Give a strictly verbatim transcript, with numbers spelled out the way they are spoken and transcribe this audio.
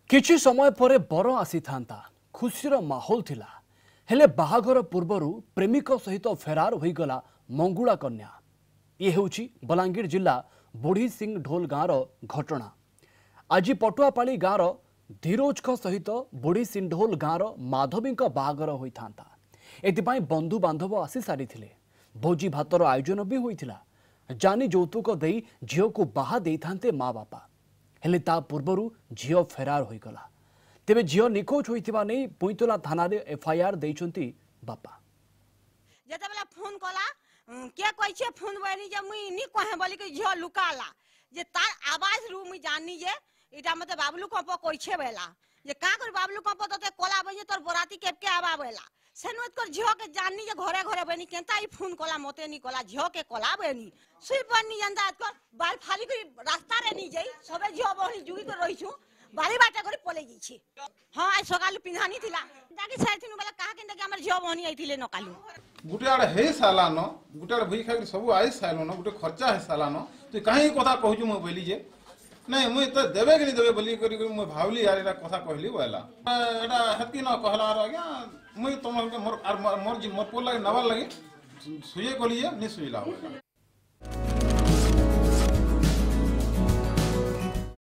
କିଛି ସମୟ ପରେ ବର ଆସିଥାନ୍ତା, ଖୁସିର ମାହୋଲ ଥିଲା। ହେଲେ ବାହାଘର ପୂର୍ବରୁ ପ୍ରେମିକ ସହିତ ଫେରାର ହୋଇଗଲା ମଙ୍ଗୁଳା କନ୍ୟା। ଇଏ ହେଉଛି ବଲାଙ୍ଗୀର ଜିଲ୍ଲା ବୁଢ଼ୀ ସିଂ ଢୋଲ ଗାଁର ଘଟଣା। ଆଜି ପଟୁଆପାଳି ଗାଁର ଧୀରୋଜଙ୍କ ସହିତ ବୁଢ଼ୀ ସିଂଢୋଲ ଗାଁର ମାଧବୀଙ୍କ ବାହାଘର ହୋଇଥାନ୍ତା। ଏଥିପାଇଁ ବନ୍ଧୁବାନ୍ଧବ ଆସି ସାରିଥିଲେ, ଭୋଜି ଭାତର ଆୟୋଜନ ବି ହୋଇଥିଲା। ଜାନି ଯୌତୁକ ଦେଇ ଝିଅକୁ ବାହା ଦେଇଥାନ୍ତେ ମା ବାପା। ହେଲେ ତା ପୂର୍ବରୁ ଝିଅ ଫେରାର ହୋଇଗଲା। ତେବେ ଝିଅ ନିଖୋଜ ହୋଇଥିବା ନେଇ ପୁଇଁତଲା ଥାନାରେ ଏଫଆଇଆର ଦେଇଛନ୍ତି ବାପା। ଯେତେବେଳେ ଫୋନ କଲା, କିଏ କହିଛେ ଫୋନ ବନି ଯେ ମୁଇଁ ନି କହେ ବୋଲିକି ଝିଅ ଲୁକାଲା ଯେ ତାର ଆବାଜ ରୁ ମୁଇଁ ଜାନି ଯେ ଏଇଟା ମତେ ବାବଲୁ କମ୍ପ କହିଛେ ବେଲା ଯେ କାଁ କରି ବାବଲୁ କମ୍ପ ତତେ କଲା ବନି ତୋର ବରାତି କେବକେ ଆବା ବେଲା। ସେନୁ ଏତକର ଝିଅକେ ଜାନି ଯେ ଘରେ ଘରେ ବନି କେନ୍ତା ଇ ଫୋନ କଲା ମତେ ନି କଲା ଝିଅକେ କଲା ବନି ଶୁଇ ପାରନି ଯେନ୍ତା ଏତକର ବାଲ ଫାଲି କରି ରାସ୍ତାରେ ନି ଯାଇ ସବେ ଝିଅ ବହଣି ଯୁଗି କରି ରହିଛୁ ବାରି ବାଟେ କରି ପଲେଇ ଯାଇছি। ହଁ, ଆজ ସକାଳୁ ପିନ୍ଧାନି ଥିଲା ଡାକି ସାରିଥିନୁ ବେଲେ କାହା କେନ୍ତା କି ଆମର ଝିଅ ବହଣି ଆଇଥିଲେ ନକାଲୁ। ଗୁଟେ ଆଡ଼େ ହେଇ ସାରିଲାନ, ଗୁଟେ ଆଡ଼େ ଭୁଇ ଖାଇକି ସବୁ I ସାରିଲନ, ଗୁଟେ ଖର୍ଚ୍ଚା ହେଇ ସାରିଲାନ, ତୁଇ କାହିଁ କଥା କହୁଛୁ ମୁଁ ବୋଇଲି ଯେ ନାଇଁ ମୁଇଁ ତ ଦେବେ କି ନି ଦେବେ ବୋଲି କରି ମୁଇଁ ଭାବିଲି ଆର୍ ଏଇଟା କଥା କହିଲି ବୋଇଲା ଏଇଟା ହେତ୍କି ନ କହିଲା। ଆର୍ ଆଜ୍ଞା ମୁଇଁ ତମ ମୋର ଆର୍ ମୋର ମୋର ପୁଅ ଲାଗି ନେବାର୍ ଲାଗି ସୁଜେ କଲି ଯେ ନି ସୁଜିଲା ବୋଇଲା।